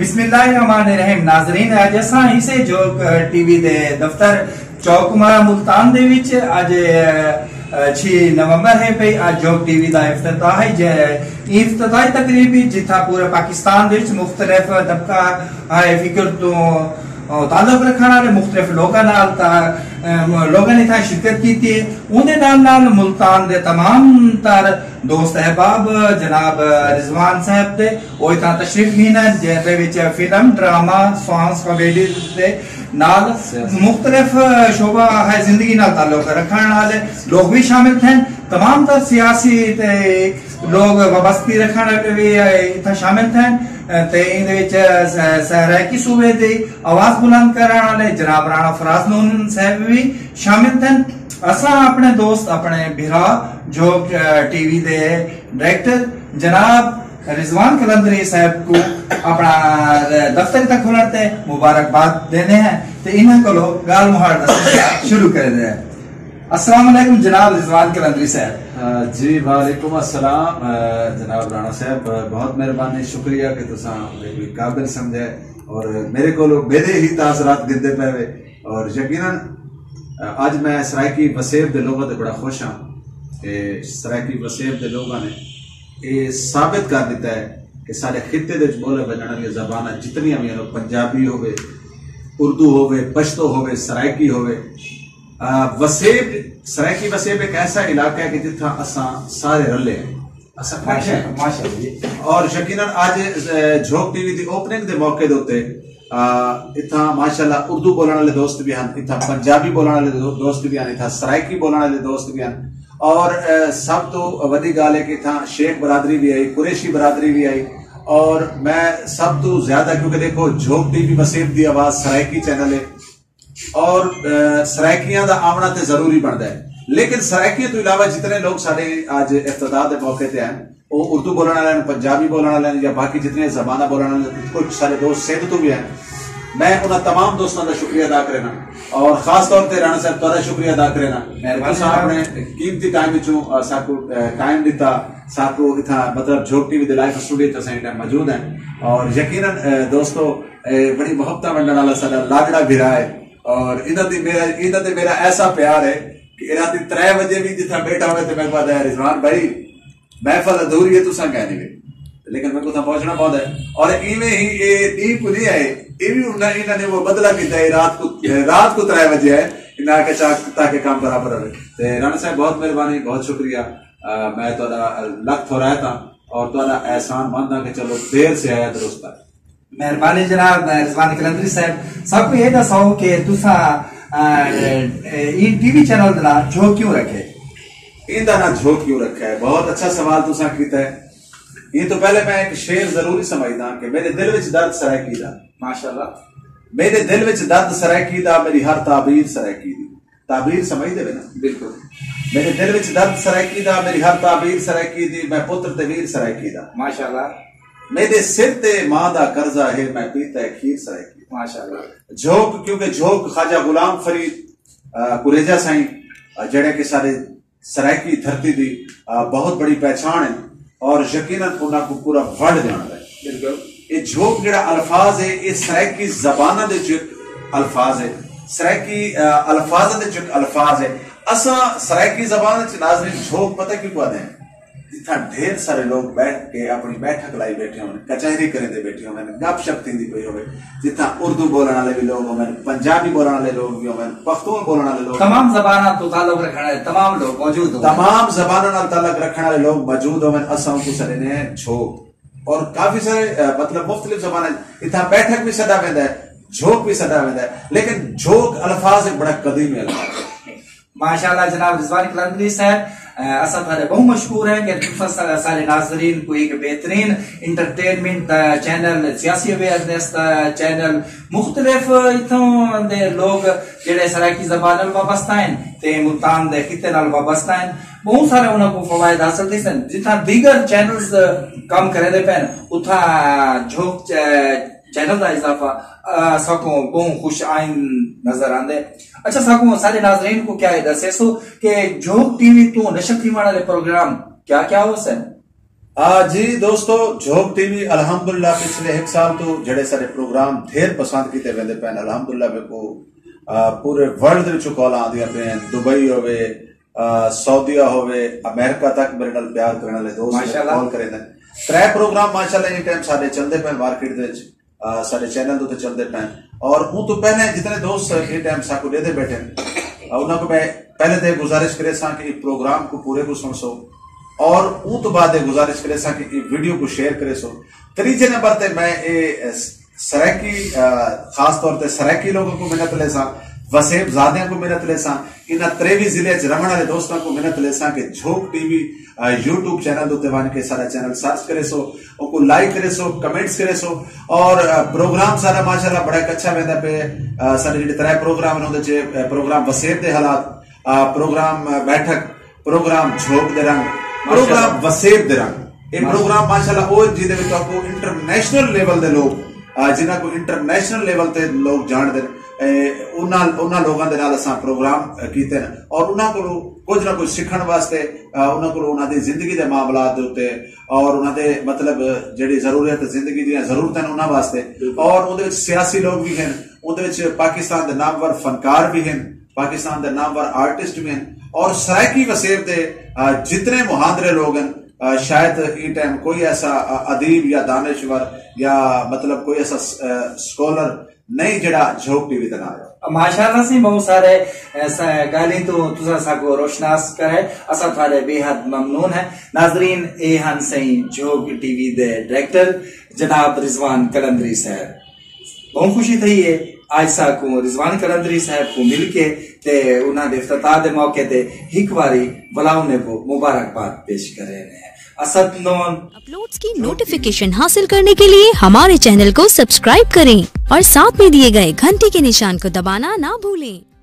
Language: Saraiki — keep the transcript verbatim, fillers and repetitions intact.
بسم اللہ الرحمن الرحیم۔ ناظرین، اج اساں اسے جھوک ٹی وی دے دفتر چوک مارا ملتان دے وچ اج، اے، چھ نومبر ہے پئی۔ اج جھوک ٹی وی دا افتتاح ہے، جے افتتاحی تقریب وچ جتھاں پورے پاکستان دے وچ مختلف طبقہ ہائے فکر توں تعلق رکھݨ والے مختلف لوکاں نال تا، اے، لوکاں نے اتھاں شرکت کیتی ہے۔ اوندے نال نال ملتان دے تمام تر دوست احباب جناب رضوان صاحب دے او اتھاں تشریف گھن ہن، جیندے وچ فلم، ڈرامہ، سانگز، کامیڈی دے نال مختلف شعبہ ہائے زندگی نال تعلق رکھݨ والے لوگ وی شامل تھن۔ تمام تر سیاسی تے لوگ وابستگی رکھݨ والے وی اتھاں شامل تھن تے ایندے وچ س-، سرائیکی صوبے دی آواز بلند کرݨ والے جناب رانا فراز نون صاحب وی شامل تھن۔ اساں اپݨے دوست، اپݨے بھرا جھوک، اے، ٹی وی دے ڈائریکٹر جناب رضوان قلندری صاحب کوں اپݨا دفتر اتھاں کھلݨ تے مبارکباد ݙیندے ہیں تے انہاں کولوں ڳالھ مہاڑ دا سلسلہ شروع کریندے ہیں۔ السلام علیکم جناب رضوان قلندری صاحب۔ آ، جی، وعلیکم السلام، آ، جناب رانا صاحب، بہت مہربانی، شکریہ کہ تساں میکوں قابل سمجھے اور میرے کولوں میرے ہی تاثرات گھندے پئے وے۔ اور یقیناً، آ، اج میں سرائیکی وسیب دے لوگاں تے بڑا خوش ہاں کہ سرائیکی وسیب دے لوگاں نے اے ثابت کر ݙتا ہے کہ ساݙے خطے دے وچ ٻولے ونڄݨ والیاں زباناں جتنیاں وی ہن، پنجابی ہووے، اردو ہووے، پشتو ہووے، سرائیکی ہووے، آ، وسیب، سرائیکی وسیب ایک ایسا علاقہ ہے کہ جتھاں اساں سارے رلے ہیں، اساں کٹھے ہیں۔ ماشاءاللہ، ماشاءاللہ جی۔ اور یقیناً اج، اے، جھوک ٹی وی دی اوپننگ دے موقع دے اتے، آ، اتھاں ماشاءاللہ اردو بولݨ والے دوست بھی ہن، اتھاں پنجابی بولݨ والے دو-، دوست بھی ہن، اتھاں سرائیکی بولݨ والے دوست بھی ہن۔ اور، اے، سب تو وݙی ڳالھ ہے کہ اتھاں شیخ برادری بھی آئی، قریشی برادری بھی آئی۔ اور میں سب تو زیادہ، کیونکہ دیکھو، جھوک ٹی وی وسیب دی آواز سرائیکی چینل ہے، اور، اے، سرائیکیاں دا آوݨا تے ضروری بݨدا ہے، لیکن سرائیکیاں تو علاوہ جتنے لوگ ساݙے اج افتتاح دے موقع تے ہیں، وہ اردو بولݨ والے ہیں، پنجابی بولݨ والے ہیں یا باقی جتنے زباناں بولݨ والے ہیں، کچھ سارے دوست سندھ تو بھی ہیں، میں انہاں تمام دوستاں دا شکریہ ادا کرنا۔ اور خاص طور تے رانا صاحب تہاݙا شکریہ ادا کرنا کہ مہربانی تساں جناب۔ اپݨے قیمتی ٹائم وچوں، آ، ساکوں، آ، ٹائم ݙتا، ساکوں اتھاں، مطلب، جھوک ٹی وی دے لائیو اسٹوڈیو تے اساں ٹائم موجود ہیں۔ اور یقیناً، آ، دوستو، اے بڑی محبتاں ونڈن والا ساڈا لاڈڑا بھرا ہے، اور انہاں دی میرا، انہاں تے میرا ایسا پیار ہے کہ اے راتی ترے وجے بھی جتھاں بیٹھا ہوئے تے میں کہا، "اے رضوان بھائی، محفل ادھوری ہے، تساں کہہ نہیں وے۔" لیکن میں کو تھا پہنچنا پوندا ہے۔ اور ایویں ہی اے ڈی کو نہیں آئے، اے بھی انہاں، انہاں نے وہ بدلہ کیتا ہے، رات کو، رات کو ترے وجے ہے، انہاں آکھیا چا تاکہ کام برابر ہوئے۔ تے رانا صاحب، بہت مہربانی، بہت شکریہ۔ آ، میں تہاݙا لکھ تھورائت ہاں اور تہاݙا احسان مند ہاں کہ چلو دیر سے آیا درست آیا۔ مہربانی جناب رضوان قلندری صاحب، سب کو یہ دساؤ کہ تساں، آ، اے، اے، این ٹی وی چینل دا نام جھوک کیوں رکھے؟ ایندا ناں جھوک کیوں رکھا ہے؟ بہت اچھا سوال تساں کیتا ہے۔ یہ تو پہلے میں ایک شعر ضروری سمجھدا کہ میرے دل وچ درد سرائیکی دا۔ ماشاءاللہ۔ میرے دل وچ درد سرائیکی دا، میری ہر تعبیر سرائیکی دی۔ تعبیر سمجھدے وے نا؟ بالکل۔ میرے دل وچ درد سرائیکی دا، میری ہر تعبیر سرائیکی دی، میں پتر تے ویر سرائیکی دا۔ ماشاءاللہ۔ میرے سر تے ماں دا قرضہ ہے، میں پیتا ہے کھیر سرائیکی دا۔ ماشاءاللہ۔ جھوک، کیونکہ جھوک خواجہ غلام فرید، آ، کریجہ سائیں، آ، جڑے کہ سارے سرائیکی دھرتی دی، آ، بہت بڑی پہچان ہے اور یقیناً انہاں کو پورا ورلڈ جاندا ہے۔ بالکل۔ یہ جھوک جڑا الفاظ ہے، یہ سرائیکی زباناں دے جو ایک الفاظ ہے، سرائیکی، آ، الفاظاں دے جو ایک الفاظ ہے۔ اساں سرائیکی زبان وچ ناظرین جھوک پتہ کیوں کہندے ہیں؟ جتھاں ڈھیر سارے لوگ بیٹھ کے اپنی بیٹھک لائی بیٹھے ہوئے، کچہری کریندے بیٹھے ہوئے، گپ شپ تھیندی پئی ہوئے، جتھاں اردو بولݨ والے بھی لوگ ہوون، پنجابی بولݨ والے لوگ بھی ہوون، پختون بولݨ والے لوگ، تمام زباناں تو تعلق رکھݨ والے تمام لوگ موجود ہوون۔ تمام زباناں نال تعلق رکھݨ والے لوگ موجود ہوون، اساں اونکوں سݙیندے ہیں جھوک۔ اور کافی سارے، آ، مطلب مختلف زباناں، اتھاں بیٹھک بھی سݙا ویندا ہے، جھوک بھی سݙا ویندا ہے، لیکن جھوک الفاظ ایک بڑا قدیمی الفاظ ہے۔ ماشاءاللہ جناب رضوان قلندری صاحب، اے، اساں تہاݙے بہت مشکور ہیں کہ تساں سا-، سارے ناظرین کو ایک بہترین انٹرٹینمنٹ دا چینل، سیاسی اویئرنیس دا چینل، مختلف اتھوں دے لوگ جڑے سرائیکی زبان نال وابستہ ہیں تے ملتان دے خطے نال وابستہ ہیں، بہت سارے انہاں کو فوائد حاصل تھی سن۔ جتھاں دیگر چینلز کم کریندے پئے ہن، اتھاں جھوک چ-، چینل دا اضافہ، آ، ساکوں بہوں خوش آئند نظر آندے۔ اچھا، ساکوں سارے ناظرین کو کیا یہ دسے سو کہ جھوک ٹی وی تو نشر تھیوݨ والے پروگرام کیا کیا ہو سن؟ آ جی دوستو، جھوک ٹی وی الحمدللہ پچھلے ہک سال تو جڑے سارے پروگرام ڈھیر پسند کیتے ویندے پین۔ الحمدللہ میرے کو آ، پورے ورلڈ دے وچوں کال آندیاں پین، دبئی ہوے، آ، سعودیہ ہوے، امریکہ تک میرے نال پیار کرنے والے دوست میرے ماشاءاللہ۔ کال کرے دے۔ ترے پروگرام ماشاءاللہ این ٹائم سارے چلدے پین مارکیٹ دے وچ، آ، سارے چینل دے تے چلدے پین۔ اور اون تو پہلے جتنے دوست این ٹائم ساکو دے دے بیٹھے ہیں، آ، انہاں کو میں پہلے تے گزارش کرے ساں کہ پروگرام کو پورے کو سن سو، اور اون تو بعد گزارش کرے ساں کہ ویڈیو کو شیئر کرے سو۔ تریجے نمبر تے میں اے سرائیکی، آ، خاص طور تے سرائیکی لوگوں کو منت لیساں، وسیب زادیاں کو منت لیساں، انہاں تریوی ضلع چ رہن والے دوستاں کو منت لیساں کہ جھوک ٹی وی، آ، یوٹیوب چینل دے تے ونج کے سارا چینل سرچ کرے سو، او کو لائک کرے سو، کمنٹس کرے سو، اور، آ، پروگرام سارا ماشاءاللہ بڑا اچھا ویندا پے۔ آ، سارے جڑے ترے پروگرام انہاں دے چ، آ، پروگرام وسیب دے حالات، آ، پروگرام، آ، بیٹھک، پروگرام جھوک دے رنگ، ماشاءاللہ۔ پروگرام وسیب دے رنگ۔ اے ماشاءاللہ۔ پروگرام ماشاءاللہ او جیندے وچ آپ کو انٹرنیشنل لیول دے لوگ، آ، جنہاں کو انٹرنیشنل لیول تے لوگ جان دے، اے، انہاں، انہاں لوگاں دے نال اساں پروگرام، آ، کیتے ہیں اور انہاں کو کچھ نہ کچھ سکھن واسطے، آ، انہاں کو انہاں دی زندگی دے معاملات دے اتے اور انہاں دے مطلب جڑی ضرورت زندگی دیاں ضرورتاں نے انہاں واسطے بالکل۔ اور اودے وچ سیاسی لوگ بھی ہیں، اودے وچ پاکستان دے نامور فنکار بھی ہیں، پاکستان دے نامور آرٹسٹ بھی ہیں اور سرائیکی وسیب دے، آ، جتنے مہاندرے لوگ ہیں، آ، شاید ایں ٹائم کوئی ایسا، آ، ادیب یا دانشور یا مطلب کوئی ایسا س-، آ، سکالر نہیں جڑا جھوک ٹی وی تے نہ آیا۔ ماشاءاللہ سی، بہت سارے، آ، س-، گالیں تو تساں ساکو روشناس کرے، اساں تھارے بے حد ممنون ہیں۔ ناظرین، اے ہن سئیں جھوک ٹی وی دے ڈائریکٹر جناب رضوان قلندری صاحب۔ بہوں خوشی تھئی ہے آج ساکوں رضوان قلندری صاحب کوں مل کے تے انہاں دے افتتاح دے موقع تے ہک واری ولا انہیں کوں مبارکباد پیش کرے رہے ہیں۔ اسد نون اپلوڈز کی نوٹیفکیشن حاصل کرنے کے لیے ہمارے چینل کو سبسکرائب کریں اور ساتھ میں دیے گئے گھنٹی کے نشان کو دبانا نہ بھولیں۔